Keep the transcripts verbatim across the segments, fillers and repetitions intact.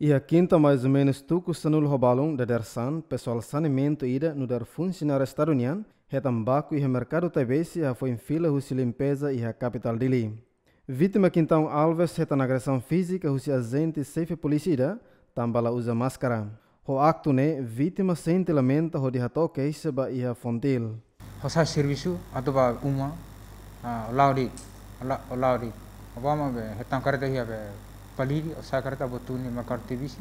Iha kinta maizumenus tuku sanulu ho balun dadeer-saan, pesoál saneamentu ida nu'udar funsionáriu Estadu nian hetan baku iha Merkadu Taibesi hafoin fila husi limpeza iha kapitál Dili. Vítima Quintão Alves hetan agresaun fízika husi ajente xefe polísia ida tanba la uza máskara. Ho aktu ne'e, vítima sente lamenta hodi hato'o keixa ba iha Fontil. Ha'u sai servisu atu bá uma, ah, la'o de'it, la-, la'o de'it. Ha'u bá mak be hetan karreta iha be Paliri, ha'u sai karreta bá tun iha Merkadu Taibesi.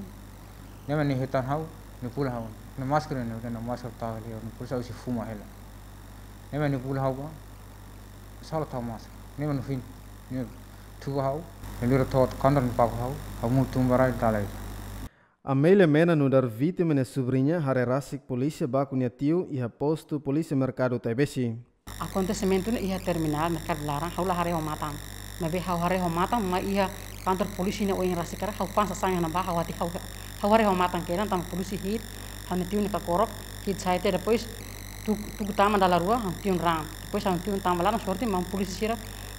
Ne'e mak nia hetan ha'u, nia pula ha'u. Nia máskara, nia, nia máskara tau hela, nia pula sai husi fuma hela. Ne'e mak nia pula ha'u bá, sala tau máskara. Ne'e mak no fim, nia tuba ha'u, nia lori to'o kantor nia paku ha'u, ha'u monu tun ba rai dala ida. Amélia Mena nu'udar vítima nia subriña haree rasik polísia baku nia tiu iha postu polísia Merkadu Taibesi. Akontesimentu ne'e iha terminál Merkadu Laran, ha'u la haree ho matan. Maibé ha'u haree ho matan, mai iha kantor polísia nia oin rasik karik, ha'u fa'an sasán iha ne'ebá, ha'u hatene, ha'u, ha'u haree ho matan kedan, tanba polísia hi'it, ha'u-nia tiu ne'e kakorok, hi'it sai tiha, depois tuku, tuku tama dala rua, ha'u-nia tiu raan. Depois ha'u-nia tiu tama laran, sorte maun polísia sira,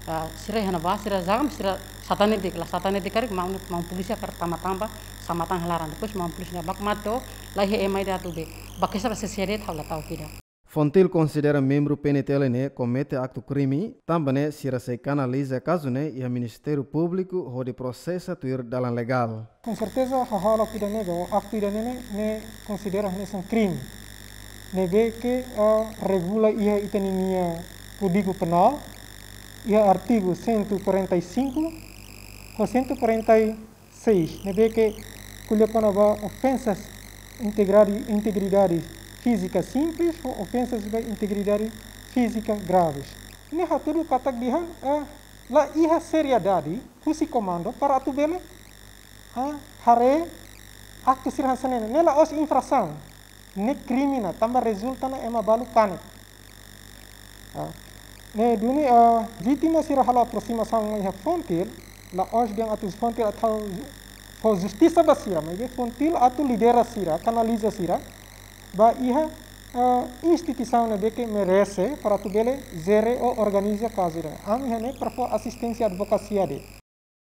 ah, sira iha ne'ebá, sira jaga, sira satanek de'it, la satanek de'it karik, maun, maun polísia karik tama-tama, sa'e matan iha laran. Depois maun polísia ne'e baku mate, la iha ema ida atu be. Bá keixa ba C C D ha'u la ta'uk ida. Fontil konsidera membru P N T L ne'e komete aktu krime, tanba ne'e sira sei kanaliza kazu ne'e iha Ministériu Públiku hodi prosesa tuir dalan legál. Com certeza, hahalok ida-ne'e, ou aktu ida-ne'e, ne'e konsidera hanesan krime. Ne'ebé ke, ah, regula iha ita-nia Kódigu Penál, iha artigu cento e quarenta e cinco ho cento e quarenta e seis, ne'ebé ke ko'alia kona-ba ofensas integridade, integridade fízika simples ho ofensas ba integridade fízika graves. Ne'e hatudu katak dehan, ah, la iha seriedade husi komandu para atu bele, ah, haree aktu sira hanesan ne'e. Ne'e la'ós infrasaun, ne'e krime ona, tanba rezulta ona ema balu kanek. Ah, ne'e duni, ah, vítima sira halo aproximasaun mai iha Fontil, la'ós dehan atu Fontil atu fó justisa ba sira, maibé Fontil atu lidera sira, kanaliza sira ba iha, ah, instituisaun ne'ebé ke merese para atu bele jere ou organiza kazu ida. Ami iha ne'e para fó asisténsia advokasia de'it.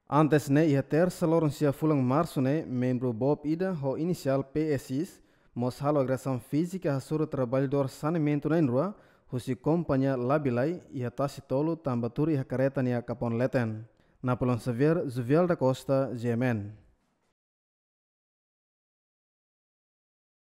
Antes ne'e, iha tersa loron sia fulan Marsu ne'e, membru BOP ida ho inisiál P S I mós halo agresaun fízika hasoru traballadór saneamentu na'in-rua husi kompañia Labilai iha Tasi Tolu tanba tuur iha karreta nia kapaun leten. Napoleão Xavier, Juvial da Costa, G M N.